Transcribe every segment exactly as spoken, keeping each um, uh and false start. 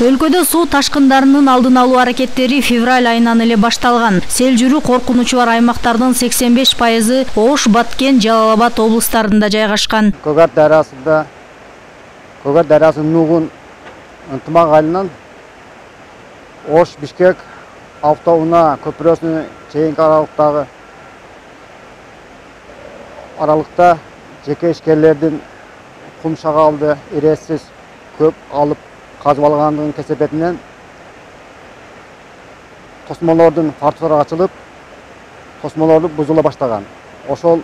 Өлкөдө суу ташкындарынын алдын алуу аракеттери февраль айынан эле башталган. Сел жүрүү коркунучу бар аймактардын сексен беш пайызы Ош, Баткен, Жалал Абад облустарында жайгашкан. Көгөр дарасында Көгөр дарасынын нугун ынтымак айылынан Ош, Бишкек автоунаа көпүрөсүнө чейинки аралыктагы аралыкта жеке ишкерлердин кум шагалды ирээсиз көп алып казып алгандыгын кесепетинен тосмолордун фартылары ачылып, тосмолорду бузула баштаган. Ошол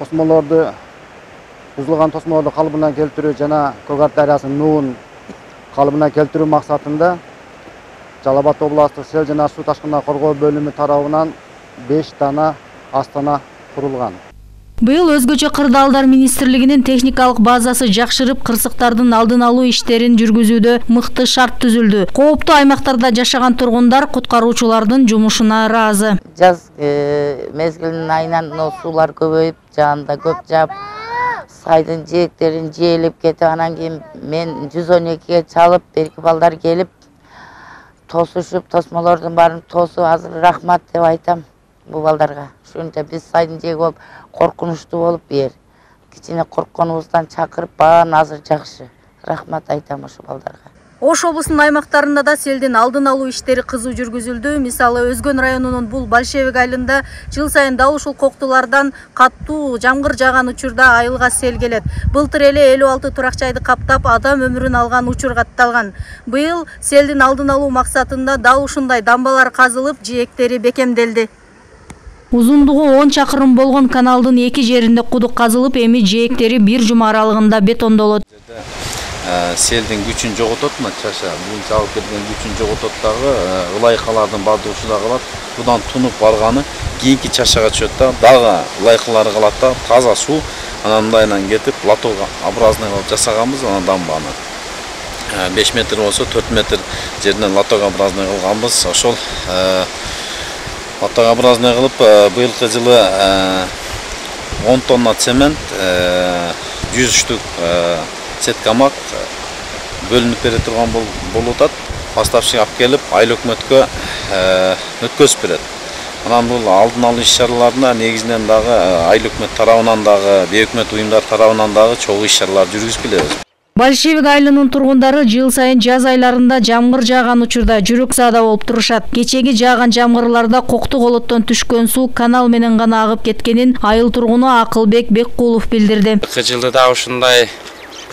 тосмолорду бузулган тосмолорду калыбына келтирүү жана Көгөр дарасынын нугун калыбына келтирүү максатында Жалал Абад областык сел жана суу ташкынынан коргоо бөлүмү тарабынан беш дана астана курулган. Быйыл өзгөчө кырдаалдар министрлигинин техникалык базасы жакшырып, кырсыктардын алдын алуу иштерин жүргүзүүдө мыкты шарт түзүлдү. Кооптуу аймактарда жашаган тургундар куткаруучулардын жумушуна ыраазы. Жаз мезгилинин айынан суулар көбөйүп, жаанда көп жаап, сайдын жээктерин жээлеп кетип, анан кийин мен жүз он экиге чалып, берки балдар келип тосушуп, тосмолордун баарын тосуп, азыр рахмат деп айтам бул балдарга. Ушунча биз сайдын жээги болуп, коркунучтуу болуп бер. Кичине коркконубуздан чакырып, баарын азыр жакшы. Рахмат айтам ошо балдарга. Ош облусунун аймактарында да селдин алдын алуу иштери кызуу жүргүзүлдү. Мисалы, Өзгөн районунун бул Большевик айылында жыл сайын дал ушул коктулардан каттуу жамгыр жааган учурда айылга сел келет. Былтыр эле элүү алты турак жайды каптап, адам өмүрүн алган учур катталган. Быйыл селдин алдын алуу максатында дал ушундай дамбалар казылып, жээктери бекемделди. Узундугу он чакырым болгон каналдын эки жеринде кудук казылып, эми жээктери бир жума аралыгында бетондолот. Селдин күчүн жоготот, мына чаша буюнча алып келген күчүн жоготот дагы, ылайкалардын бардыгы ушуда калат. Будан тунуп барганы кийинки чашага түшөт да, дагы ылайкалары калат да, таза суу анан мындайынан кетип, лоток образный кылып жасаганбыз анан дамбаны. беш метр болсо төрт метр жеринен лоток образный кылганбыз. Ошол лотокообразный кылып, быйылкы жылы он тонна цемент, жүз штук сеткамак бөлүнүп бере турган болуп атат. Поставщик алып келип, айыл өкмөткө өткөзүп берет. Анан бул алдын алуу иш-чараларына негизинен дагы айыл өкмөт тарабынан дагы, бейөкмөт уюмдар тарабынан дагы чогуу иш-чаралар жүргүзүп келебиз. Большевик айылынын тургундары жыл сайын жаз айларында жамгыр жааган учурда жүрөк заада болуп турушат. Кечеги жааган жамгырларда кокту колоттон түшкөн суу канал менен гана агып кеткенин айыл тургуну Акылбек Беккулов билдирди. Быйылкы жылда да ушундай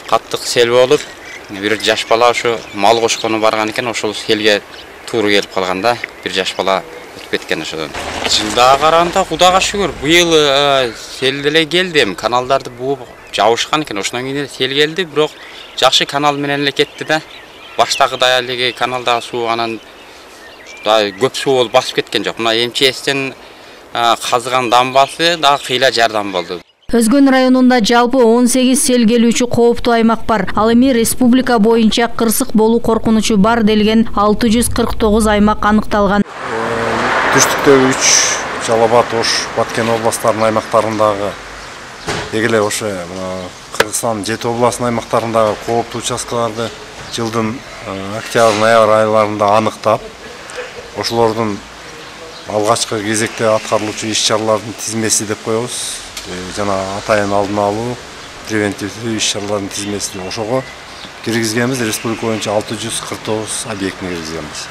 каттык сел болуп, бир жаш бала ушу мал кошкону барган экен, ошол селге тууру келип калган да, бир жаш бала өтүп кеткен ошодон. Жылдага караганда Кудайга шүгүр, быйыл сел деле келди, каналдарды бууп жабышкан экен, ошондон кийин сел келди, бирок жакшы канал менен эле кетти да. Баштагыдай эле каналдагы суу анан көп суу болуп басып кеткен жок. Мына МЧСтен казыган дамбасы дагы кыйла жардам болду. Өзгөн районунда жалпы он сегиз сел келүүчү кооптуу аймак бар. Ал эми республика боюнча кырсык болуу коркунучу бар делген алты жүз кырк тогуз аймак аныкталган. Түштүктөгү үч Жалал Абад, Ош, Баткен областтарынын аймактарындагы дегеле ошо Кыргызстан жети областынын аймактарындагы кооптуу участкаларды жылдын октябрь-ноябрь айларында аныктап, ошолордун алгачкы кезекте аткарылуучу иш-чаралардын тизмеси деп коебуз. Жана атайын алдын алуу, превентивдүү иш-чаралардын тизмеси ошого киргизгенбиз. Республика боюнча алты жүз кырк тогуз объектине киргизгенбиз.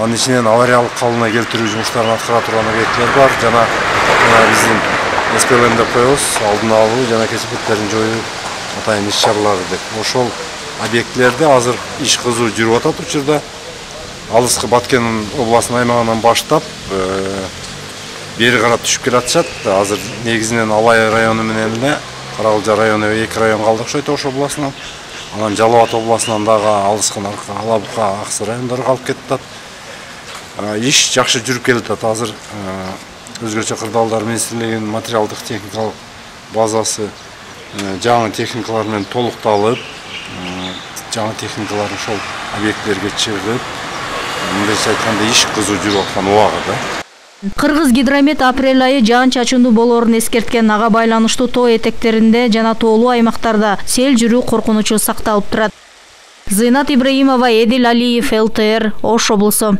Анын ичинен авариялык калыбына келтирүү жумуштарын аткара турган объектилер бар. Жана биздин эс пэ эм деп коебуз, алдын алуу жана кесепеттерин жоюу атайын иш-чаралары деп. Ошол объектилерде азыр иш кызуу жүрүп атат учурда. Алыскы Баткен областынын аймагынан баштап бери карап түшүп келатышат. Азыр негизинен Алай району менен эле Каракылжа району эки район калды окшойт Ош областынан. Анан Жалал Абад областынан дагы Алыскы, Ала Бука, Аксы райондору калып кетип атат. Иш жакшы жүрүп келатат. Азыр өзгөчө кырдаалдар министрлигинин материалдык техникалык базасы жаңы техникалар менен толукталып, жаңы техникалар ошол объектлерге чыгып, мындайча айтканда иш кызуу жүрүп аткан убагында. Кыргыз гидромет апрель айы жаан-чачындуу болоорун эскерткен. Ага байланыштуу тоо этектеринде жана тоолуу аймактарда сел жүрүү коркунучу сакталып турат. Зыйнат Ибраимова, Эдил Алиев, эл тэ эр, Ош облусу.